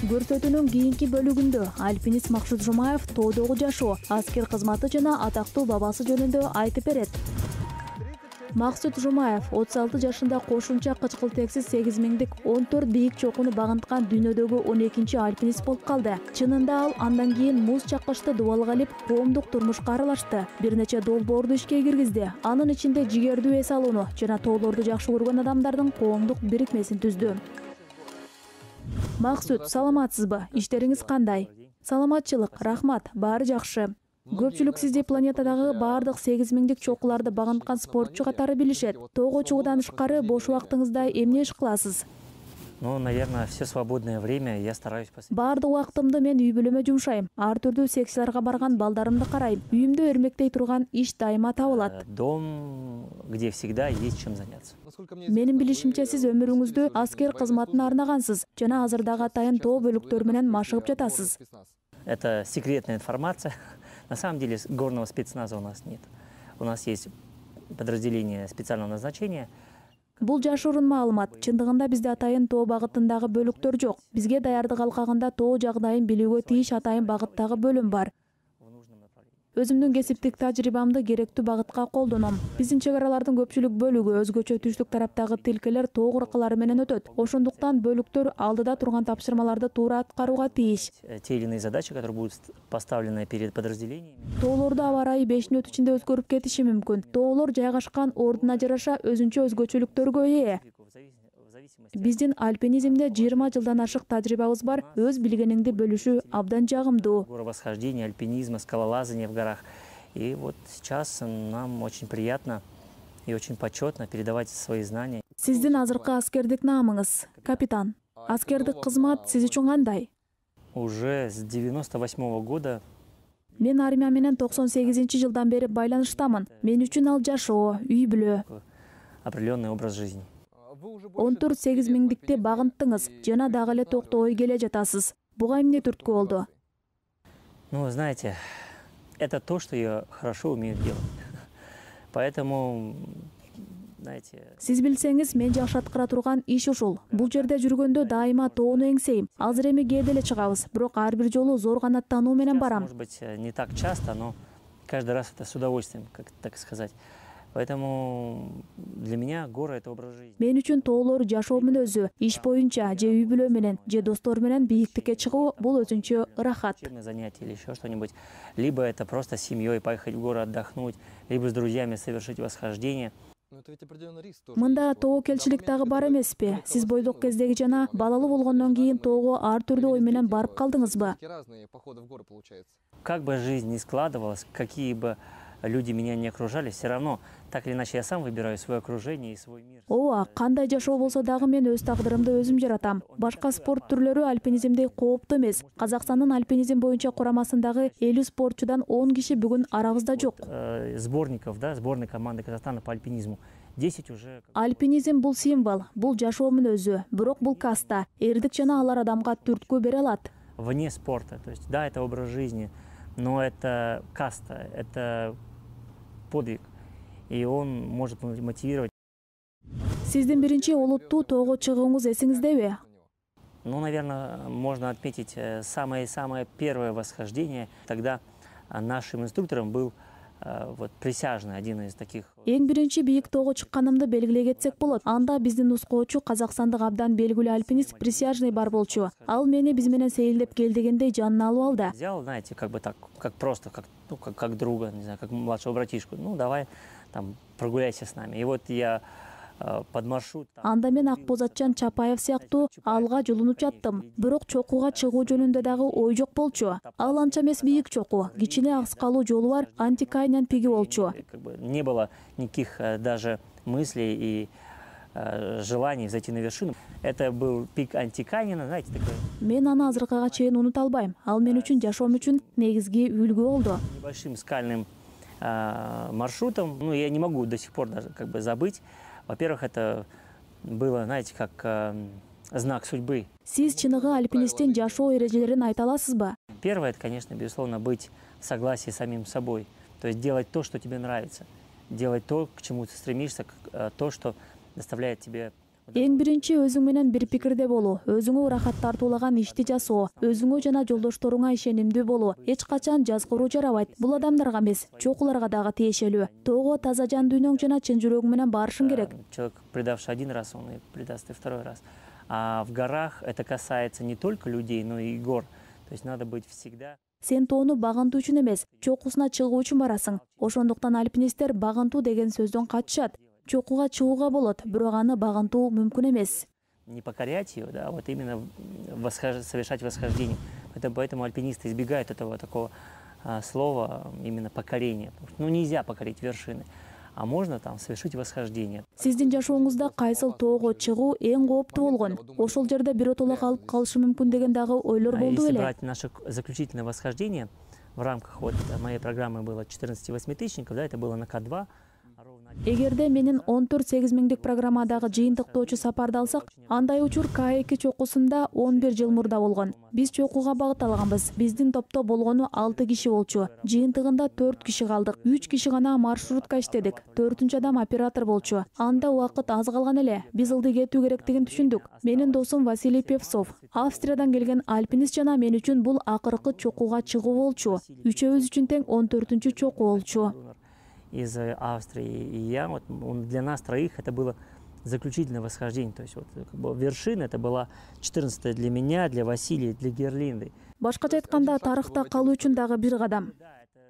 Көрсөтүүнүн кийинки бөлүгүндө альпинист Максут Жумаев тоодогу жашоо, аскер кызматы жана атактуу бабасы жөнүндө айтып берет. Максут Жумаев 36 жашында кошумча кычкылтексиз 8000дик 14 бийик чокуну багынткан дүйнөдөгү 12-чи альпинист болуп калды. Чынында ал андан кийин муз чаккычты дубалга илип, коомдук турмушка аралашты. Бир нече долбоорду ишке киргизди. Анын ичинде жигердүү эс алууну жана тоолорду жакшы көргөн адамдардын коомдук бирикмесин түздү. Максут, саламатсызбы? Иштериңиз кандай? Саламатчылык, рахмат, баары жакшы. Көпчүлүк сизди планетадагы баардык 8000дик чокуларды багынткан спортчу катары билишет. Тоого чыгуудан тышкары бош убактыңызда эмне иш кыласыз? Ну, наверное, все свободное время я стараюсь посвятить. Баардык убактымды мен үй бүлөмө жумшайм. Ар түрдүү секцияларга барган балдарымды карайм. Үйүмдө өрмектей турган иш дайыма табылат. Дом, где всегда есть чем заняться. Менин билишимче, сиз өмүрүңүздү аскер кызматына арнагансыз жана азыр дагы атайын тоо бөлүктөр менен машыгып жатасыз. Это секретная информация. На самом деле горного спецназа у нас нет. У нас есть подразделение специального назначения. Бул жашыруун маалымат. Чындыгында бизде атайын тоо багытындагы бөлүктөр жок. Бизге даярдык алкагында тоо жагдайын билүүгө тийиш атайын багыттагы бөлүм бар. Өзүмдүн кесиптик тажрыйбамды керектүү багытка колдоном. Биздин чек аралардын көпчүлүк бөлүгү өзгөчө түштүк тараптагы тилкелер тоо куркалары менен өтөт. Ошондуктан бөлүктөр алдыда турган тапшырмаларды туура аткарууга тийиш. Те или иные задачи, которые будут поставлены перед подразделениями. Тоолордо аба ырайы 5 мүнөт ичинде өзгөрүп кетиши мүмкүн. Тоолор жайгашкан ордуна жараша өзүнчө өзгөчөлүктөргө ээ. Биздин альпинизмде 20 жылдан ашык тажрыйбабыз бар. Өз билгениңди бөлүшүү абдан жагымдуу. Горовосхождение, альпинизма, скалолазание в горах. И вот сейчас нам очень приятно и очень почетно передавать свои знания. Сиздин азыркы аскердик наамыңыз, капитан. Аскердик кызмат сиз үчүн кандай? Уже с 98 года. Мен армия менен 98-жылдан бери байланыштамын. Мен үчүн ал жашоо, үй бүлө. Определенный образ жизни. 14 8000дикти багынттыңыз жана дагы эле токтобой келе жатасыз. Буга эмне түрткү болду? Ну, знаете, это то, что я хорошо умею делать. Поэтому, знаете... Сиз билсеңиз, мен жакшы аткара турган иш ушул. Бул жерде жүргөндө дайыма тоону эңсейм. Азыр эми кээде эле чыгабыз, бирок ар бир жолу зор канаттануу менен барам. Может быть, не так часто, но каждый раз это с удовольствием, как так сказать. Поэтому для меня горы — это образ жизни. Мен үчүн тоолор жашоо мүнөзү. Иш боюнча же үй бүлө менен, же достор менен бийиктикке чыгуу бул өзүнчө ырахат. Занятие или еще что-нибудь. Либо это просто с семьей поехать в горы отдохнуть, либо с друзьями совершить восхождение. Мында тоокелчилик дагы бар эмеспи? Сиз бойдок кездеги жана балалуу болгондон кийин тоого ар түрдүү ой менен барып калдыңызбы? Как бы жизнь ни складывалась, какие бы люди меня не окружали, все равно, так или иначе, я сам выбираю свое окружение и свой мир. Ооба, кандай жашоо болсо дагы мен өз тагдырымды өзүм жаратам. Башка спорт түрлөрү альпинизмдей кооптуу эмес. Казакстандын альпинизм боюнча курамасындагы 50 спортчудан 10 киши бүгүн арабызда жок. Сборников, да, сборной команды Казахстана по альпинизму. 10 уже. Альпинизм бул символ, бул жашоо мүнөзү, бирок бул каста. Эрдик жана алар адамга түрткү бере алат. Вне спорта, то есть, да, это образ жизни, но это каста, это подвиг, и он может мотивировать. Сиздин биринчи олуттуу тоого чыгууңуз эсиңиздеби? Ну, наверное, можно отметить самое первое восхождение. Тогда нашим инструктором был вот присяжный, один из таких. Эң биринчи бийик тоого чыкканымды белгилей кетсек болот. Анда биздин нускоочу казакстандык абдан белгилүү альпинист присяжный бар болчу. Ал мени биз менен сейилдеп кел дегендей жанына алып алды. Взял, знаете, как бы так, как просто, как друга, не знаю, как младшего братишку. Ну, давай, там, прогуляйся с нами. И вот я под маршрут. Анда мен Акбозатчан Чапаев сыяктуу алга жолунуп жаттым. Бирок чокууга чыгуу жөнүндө дагы ой жок болчу. Ал анча эмес бийик чокуу, кичине акскалуу жолу бар Антикайнен пиги болчу. Не было никаких даже мыслей и желаний зайти на вершину. Это был пик Антикайнена, знаете, такой. Мен аны азыркыга чейин унута албайм. Ал мен үчүн жашоом үчүн негизги үлгү болду. Небольшим скальным маршрутом, ну, я не могу до сих пор даже как бы забыть. Во-первых, это было, знаете, как знак судьбы. Сиз чыныгы альпинисттин жашоо эрежелерин айта аласызбы? Первое, это, конечно, безусловно, быть в согласии с самим собой. То есть делать то, что тебе нравится. Делать то, к чему ты стремишься, то, что доставляет тебе Эң биринчи өзүң менен бир пикирде болуу, өзүңө ырахат тартуулаган ишти жасоо, өзүңө жана жолдошторуңа ишенимдүү болуу. Эч качан жазгыруу жарабайт. Бул адамдарга эмес, чокуларга дагы тиешелүү. Тоого таза жан дүйнөң жана чын жүрөгүң менен барышың керек. Человек, предавший один раз, он и предаст и второй раз. А в горах это касается не только людей, но и гор. То есть надо быть всегда. Сен тоону багынтуу үчүн эмес, чокусуна чыгуу үчүн барасың. Ошондуктан альпинисттер багынтуу деген сөздөн качышат. Чокуга чыгууга болот, бирок аны багынтуу мүмкүн эмес. Не покорять ее, да, вот именно совершать восхождение. Поэтому альпинисты избегают этого такого слова, именно покорение. Ну, нельзя покорить вершины, а можно там совершить восхождение. Сиздин жашооңузда кайсыл тоого чыгуу эң кооптуу болгон? Ошол жерде биротоло калып калышы мүмкүн деген дагы ойлор болду Если беле? брать наше заключительное восхождение, в рамках вот моей программы было 14 восьмитысячников, да, это было на К2. Эгерде менин 14-8 миңдик программадагы жыйынтыктоочу сапарды алсак, андай учур К2 чокусунда 11 жыл мурда болгон. Биз чокуга багыт алганбыз. Биздин топто болгону 6 киши болчу. Жыйынтыгында 4 киши калдык. 3 киши гана маршрутка иштедик. 4-үнчү адам оператор болчу. Анда убакыт аз калган эле. Биз ылдый кетүү керектигин түшүндүк. Менин досум Василий Певцов, Австриядан келген альпинист жана мен үчүн бул акыркы чокуга чыгуу болчу. Үчөөбүз үчүн тең 14-чү чоку болчу. Из Австрии и я, вот, для нас троих это было заключительное восхождение. То есть вот, как бы, вершина это была 14-я для меня, для Василия, для Герлинды. Башкача айтканда, тарыхта калуу үчүн дагы бир кадам.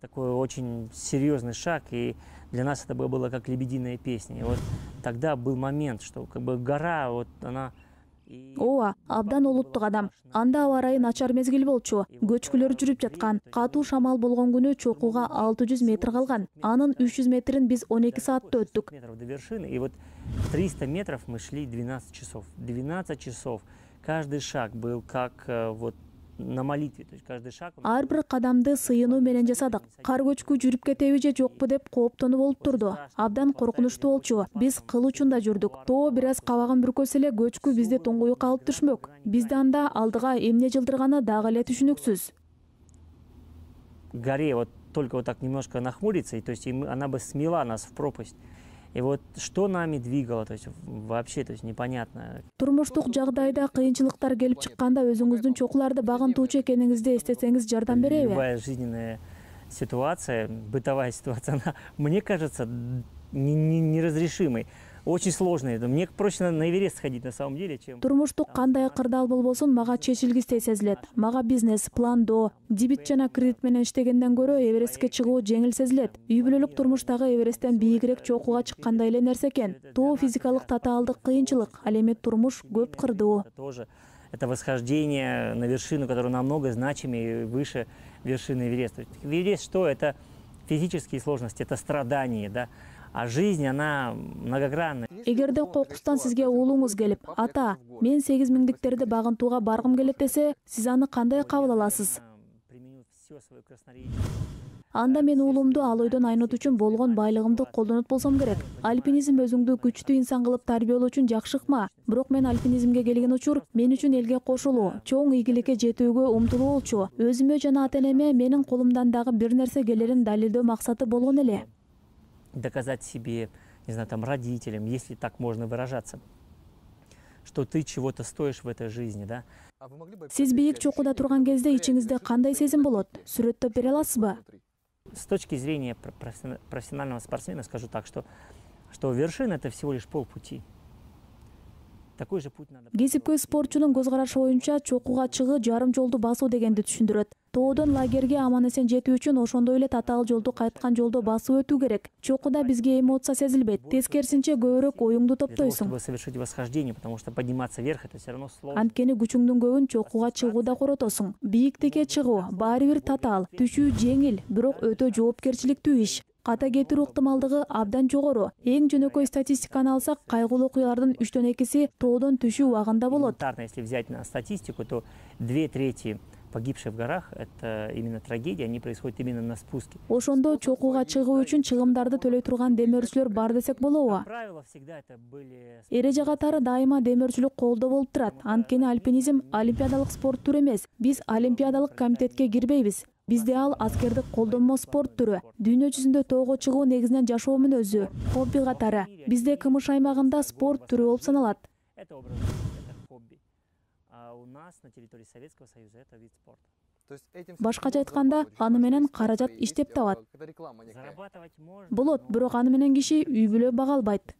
Такой очень серьезный шаг, и для нас это было как лебединая песня. И вот тогда был момент, что как бы гора, вот она... Ооба, абдан олуттук адам. Анда аба ырайы начар мезгил болчу. Көчкүлөр жүрүп жаткан. Катуу шамал болгон күнү чокуга 600 метр калган. Анын 300 метрин биз 12 саатта өттүк. Метров до вершины, и вот 300 метров мы шли 12 часов. 12 часов. Каждый шаг был как вот на молитве, то есть каждый шаг. Ар бир кадамды сыйынуу менен жасадык. Кар көчкү жүрүп кетеби же жокпу деп кооптонуп болуп турду. Абдан коркунучтуу болчу. Биз кыл учунда жүрдүк. Тоо бир аз кабагын бүркөсө эле көчкү бизди туңгуюкка алып түшмөк. Бизди анда алдыга эмне жылдырганы дагы эле түшүнүксүз. Горе вот только вот так немножко нахмуриться, и то есть она бы смела нас в пропасть. И вот что нами двигало, то есть вообще, то есть непонятно. Турмуштук жагдайда кыйынчылыктар келип чыкканда өзүңүздүн чокуларды багынтуучу экениңизди эстесеңиз жардам береби? Любая жизненная ситуация, бытовая ситуация, она, мне кажется, неразрешимой. Очень сложный. Мне проще на Эверест сходить на самом деле, чем... Турмуштук кандай кырдаал болбосун мага чечилгистей сезилет. Мага бизнес, пландоо, дебит жана кредит менен иштегенден көрө Эверестке чыгуу жеңил сезилет. Үй бүлөлүк турмуштагы Эвересттен бийигирээк чокуга чыккандай эле нерсе экен. Тоо физикалык татаалдык кыйынчылык, ал эми турмуш көп кырдуу. Это восхождение на вершину, которая намного значимее и выше вершины Эвереста. Эверест что? Это физические сложности, это страдания, да? А жизнь, она многогранна. Эгерде кокустан сизге уулуңуз келип, ата, мен 8 миңдиктерди багынтууга баргым келет десе, сиз аны кандай кабыл аласыз? Анда мен уулумду ал ойдон айнот үчүн болгон байлыгымды колдонот болсом керек. Альпинизм өзүңдү күчтүү инсан кылып тарбиялоо үчүн жакшы ыкма. Бирок мен альпинизмге келген учур мен үчүн элге кошулуу, чоң ийгиликке жетүүгө умтулуу болчу. Өзүмө жана ата-энеме менин колумдан дагы бир нерсе келерин далилдөө максаты болгон эле. Доказать себе, не знаю, там родителям, если так можно выражаться, что ты чего-то стоишь в этой жизни, да? Сиз бийик чокуда турган кезде ичиңизде кандай сезим болот? Сүрөттөп бере аласызбы? С точки зрения профессионального спортсмена скажу так, что вершина это всего лишь полпути. Такой же путь надо. Кесипкөй спортчунун көз карашы боюнча чокуга чыгуу жарым жолду басуу дегенди түшүндүрөт. Тоодон лагерге аман эсен жетүү үчүн ошондой эле татаал жолду кайткан жолдо басып өтүү керек. Чокуда бизге эмоция сезилбейт. Тескерисинче көбүрөөк оюңду топтойсуң. Чтобы совершить восхождение, потому что подниматься вверх это все равно сложно. Анткени күчүңдүн көбүн чокуга чыгууда коротосуң. Бийиктикке чыгуу баары бир татаал, түшүү жеңил, бирок өтө жоопкерчиликтүү иш. Ката кетирүү ыктымалдыгы абдан жогору. Эң жөнөкөй статистиканы алсак, кайгылуу окуялардын 3/2 тоодон түшүү убагында болот. Если взять на статистику, то 2/3 погибших в горах это именно трагедия, они происходят именно на спуске. Ошондо чокуга чыгуу үчүн чыгымдарды төлөй турган демөөрчүлөр бар десек болобу? Эреже катары дайыма демөөрчүлүк колдо болуп турат. Анткени альпинизм олимпиадалык спорт түрү эмес. Биз олимпиадалык комитетке кирбейбиз. Бизде ал аскердик колдонмо спорт түрү. Дүйнө жүзүндө тоого чыгуу негизинен жашоо мүнөзү, хобби катары. Бизде КМШ аймагында спорт түрү болуп саналат. это образ жизни, это хобби. А у нас на территории Советского Союза это вид спорта. Башкача айтканда, аны менен каражат иштеп табат. Зарабатывать можно. Болот, бирок аны менен киши үй бүлө бага албайт.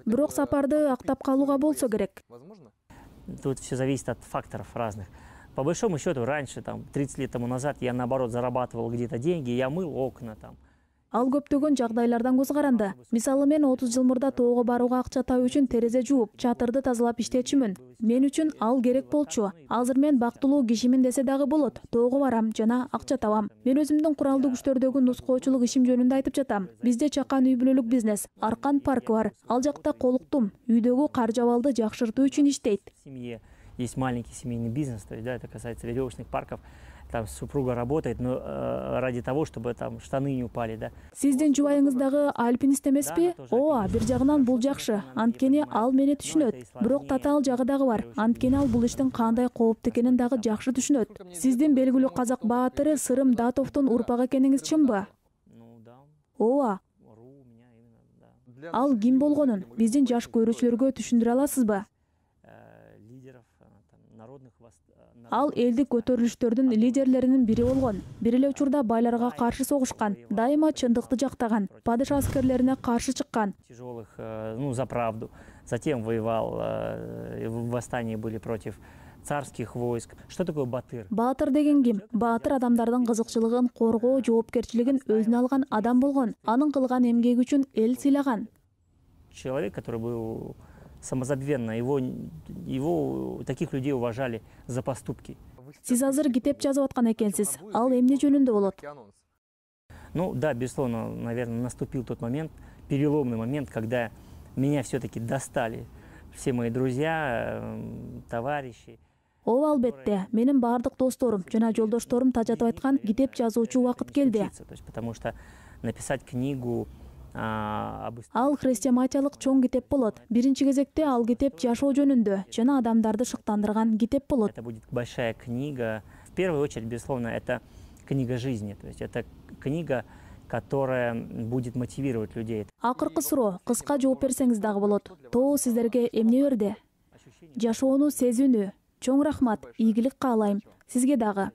Бирок сапарды актап калууга болсо керек. Тут все зависит от факторов разных. По большому счету, раньше, там, 30 лет тому назад, я, наоборот, зарабатывал где-то деньги, я мыл окна там. Ал көптөгөн жагдайлардан көз каранды. Мисалы мен 30 жыл мурда тоого барууга акча табуу үчүн терезе жууп, чатырды тазалап иштечүмүн. Мен үчүн ал керек болчу. Азыр мен бактылуу кишимин десе дагы болот. Тоого барам жана акча табам. Мен өзүмдүн куралдуу күчтөрдөгү нускоочулук ишим жөнүндө айтып жатам. Бизде чакан үй бүлөлүк бизнес, Аркан паркы бар. Ал жакта колуктум. Үйдөгү кар жабалды жакшыртуу үчүн иштейт. В семье есть маленький семейный бизнес, то есть, да, это касается веревочных парков. Там супруга работает, но ради того, чтобы там штаны не упали, да. Сиздин жубайыңыз дагы альпинист эмеспи? Ооба, бир жагынан бул жакшы. Анткени ал мени түшүнөт. Бирок татаал жагы дагы бар. Анткени ал бул иштин кандай кооптуу экенин дагы жакшы түшүнөт. Сиздин белгилүү казак баатыры Сырым Датовдун урпак экениңиз чынбы? Ооба. Ал ким болгонун биздин жаш көрүүчүлөргө түшүндүрө аласызбы? Ал элдик көтөрүлүштөрдүн лидерлеринин бири болгон. Бир эле учурда байларга каршы согушкан, дайыма чындыкты жактаган, падыша аскерлерине каршы чыккан. Тяжелых, за правду. Затем воевал, в восстании были против царских войск. Что такое батыр? Баатыр деген ким? Баатыр адамдардын кызыкчылыгын коргоо, жоопкерчилигин өзүнө алган адам болгон. Анын кылган эмгеги үчүн эл сыйлаган. Человек, который был самозабвенно, его таких людей уважали за поступки. Сиз азыр китеп жазып аткан экенсиз. Ал эмне жөнүндө болот? Ну да, безусловно, наверное, наступил тот момент, переломный момент, когда меня все-таки достали все мои друзья, товарищи. Ооба, албетте, менин баардык досторум жана жолдошторум тажатып айткан китеп жазуучу убакыт келди. Потому что написать книгу Ал хрестоматиялык чоң китеп болот. Биринчи кезекте ал китеп жашоо жөнүндө жана адамдарды шыктандырган китеп болот. Это будет большая книга. В первую очередь, безусловно, это книга жизни. То есть это книга, которая будет мотивировать людей. Акыркы суроо, кыска жооп берсеңиз дагы болот. Тоо сиздерге эмне берди? Жашоону сезүүнү. Чоң рахмат, ийгилик каалайм. Сизге дагы.